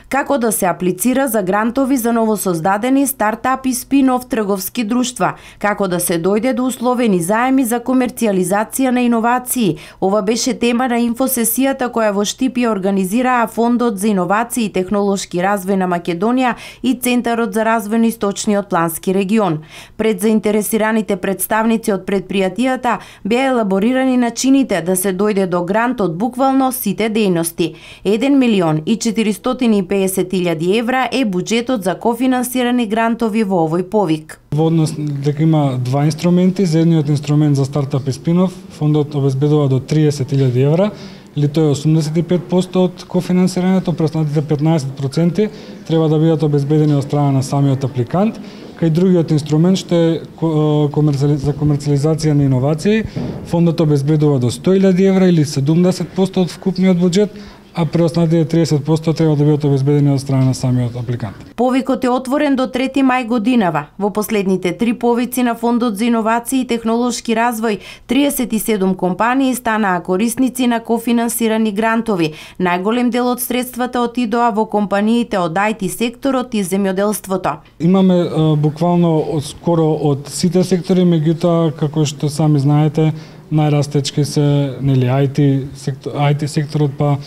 како да се аплицира за грантови за новосоздадени стартапи, спин-оф трговски друштва, како да се дојде до условени заеми за комерцијализација на иновации. Ова беше тема на инфосесијата која во Штип ја организираа Фондот за иновации и технолошки развој на Македонија и Центарот за развој на Источниот плански регион. Пред заинтересираните представници од предпријатијата беа елаборирани начините да се дојде до грант од буквално сите дејности. 1.450.000 евра е буџетот за кофинансирани грантови во овој повик. Во однос дека има два инструменти, за едниот инструмент за стартап и спин-оф, фондот обезбедува до 30.000 евра, или тоа е 85% од кофинансирањето, преостанатите 15% треба да бидат обезбедени од страна на самиот апликант. Кај другиот инструмент што е за комерцијализација на иновации, фондот обезбедува до 100.000 евра или 70% од вкупниот буџет, а преостанатите 30% треба да бидат обезбедени од страна на самиот апликант. Повикот е отворен до 3 мај годинава. Во последните 3 повици на Фондот за иновации и технолошки развој, 37 компании станаа корисници на кофинансирани грантови. Најголем дел од средствата отидоа во компаниите од IT секторот и земјоделството. Имаме буквално скоро од сите сектори, меѓутоа како што сами знаете, најрастечки се IT секторот, па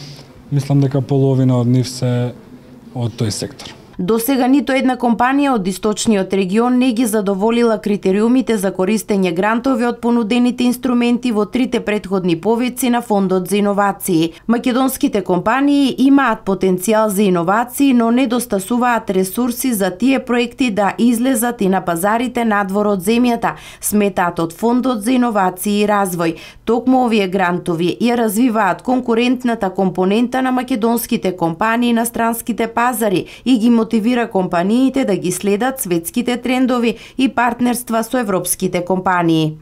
мислам дека половина од нив се од тој сектор. До сега ниту една компанија од Источниот регион не ги задоволила критериумите за користење грантови од понудените инструменти во трите претходни повици на Фондот за иновации. Македонските компании имаат потенцијал за иновации, но недостасуваат ресурси за тие проекти да излезат и на пазарите надвор од земјата, сметаат од Фондот за иновации и развој. Токму овие грантови ја развиваат конкурентната компонента на македонските компании на странските пазари и ги мотивира компаниите да ги следат светските трендови и партнерства со европските компании.